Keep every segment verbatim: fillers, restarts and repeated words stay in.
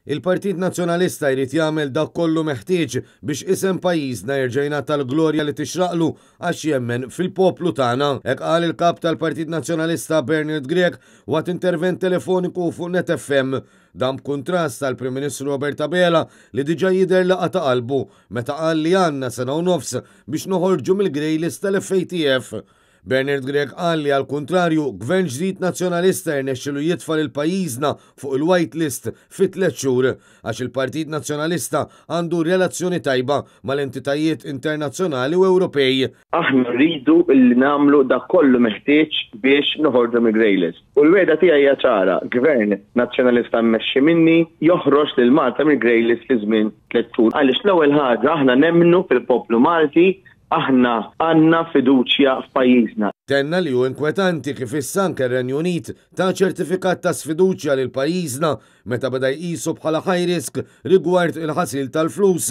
Il-Partit Nazzjonalista jrid jagħmel dak kollu meħtieġ biex isem pajjiżna jerġa' jingħata l-glorja li tixraqlu għax jemmen fil-poplu tagħna. Hekk qal il-kap tal-Partit Nazzjonalista Bernard Grech waqt intervent telefoniku fuq Net F M. Dan b'kuntrast tal-Prim Ministru Robert Abela, li diġà jidher li qata' qalbu meta qal li għandna sena u nofs biex noħorġu mill-grey list tal-F A T F. Bernard Grech qal li, għal kontrarju, gvern ġdid nazzjonalista jirnexxilu jitfa' lil pajjiżna fuq il-white list fi tliet xhur għax il-Partit Nazzjonalista għandu relazzjoni tajba mal-entitajiet internazzjonali u Ewropej. Aħna rridu li nagħmlu dak kollu meħtieġ biex noħorġu mill-grey list. U l-wegħda tiegħi hija ċara: gvern nazzjonalista mmexxi minni joħroġ lil Malta mill-grey list fi żmien tliet xhur. Għaliex l-ewwel ħaġa, aħna nemmnu fil-poplu Malti, aħna għandna fiduċja f'pajjiżna. Tenna li hu inkwetanti kif issa anke r-Renju Unit ta ċertifikat ta' sfiduċja lil pajjiżna meta beda jqisu bħala high risk rigward il-ħasil tal-flus.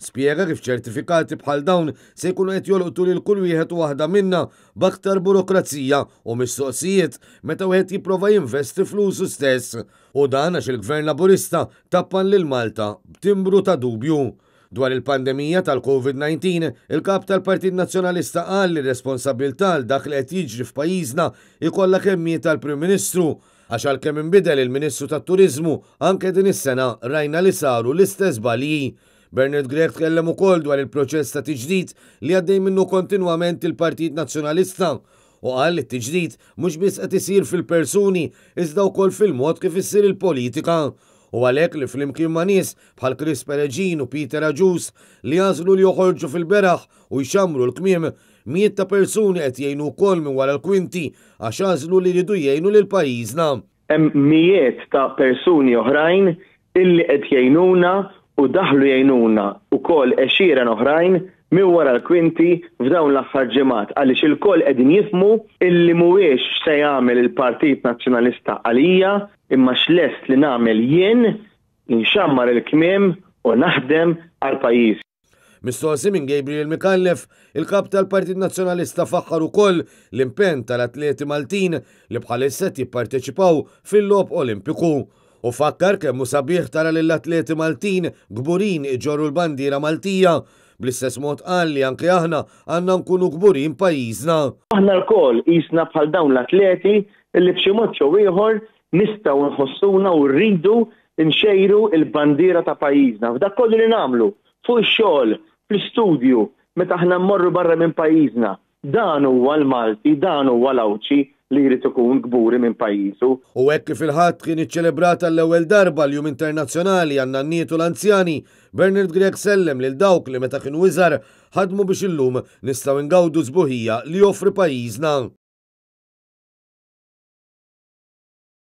Spjega kif ċertifikati bħal dawn se jkunu qed jolqtu lil kull wieħed u waħda minna b'aktar burokrazija u mistoqsijiet meta wieħed jipprova jinvesti flusu stess. U dan għax il-Gvern Laburista tappan lil Malta b'timbru ta' dubju. Dwar il-pandemija tal-Covid disa, il-kap tal-Partit Nazzjonalista qal li responsabbiltà għal dak li qed jiġri f'pajjiżna ikollha kemm tal-Prim Ministru, għax għalkemm inbidel il-Ministru tat-Turiżmu, anke din is-sena rajna li saru l-istess żbalji. Bernard Grech tkellem ukoll dwar il-proċess ta' tiġdid li għaddej minnu kontinwament il-Partit Nazzjonalista u qal li t-tiġdid mhux biss qed isir fil-persuni, iżda wkoll fil-mod kif issir il-politika. U għalhekk li flimkien ma' nies bħal Chris Peregin u Peter Agius, li għażlu li joħorġu fil-beraħ u jxamru l-kmiem, mijiet ta' persuni qed jgħinu wkoll minn wara l-kwinti għax għażlu li jridu jgħinu lil pajjiżna. Hemm mijiet ta' persuni oħrajn illi qed jgħinuna u daħlu jgħinuna ukoll, għexieren oħrajn minn wara l-kwinti f'dawn l-aħħar ġimgħat, għaliex ilkoll qegħdin jifhmu illi mhuwiex se jagħmel il-Partit Nazzjonalista għalija, imma x'lest li nagħmel jien: nxammar il-kmiem u naħdem għal pajjiż. Mistoqsi minn Gabriel Micallef, il-kap tal-Partit Nazzjonalista faħħar ukoll l-impenn tal-atleti Maltin li bħalissa jipparteċipaw fil-Logħob Olimpiku u fakkar kemm hu sabiħ tara lill-atleti Maltin kburin iġorru l-bandiera Maltija. Bl-istess mod qal li anke aħna għandna nkunu kburin pajjiżna. Aħna lkoll qisna bħal dawn l-atleti illi b'xi mod jew ieħor nistgħu nħossuna u rridu nxejru il-bandiera ta' pajjiżna. F'dak kollu li nagħmlu, fuq ix-xogħol, fl-istudju, meta aħna mmorru barra minn pajjiżna. Dan huwa l-Malti, dan huwa l-Għawdxi li jrid ikun kburi minn pajjiżu. U hekk kif il-Ħadd kien iċċelebrat l-ewwel darba l-Jum Internazzjonali għan-Nanniet u l-Anzjani, Bernard Grech sellem lil dawk li meta kienu iżgħar ħadmu biex illum nistgħu ngawdu s-sbuħija li joffri pajjiżna.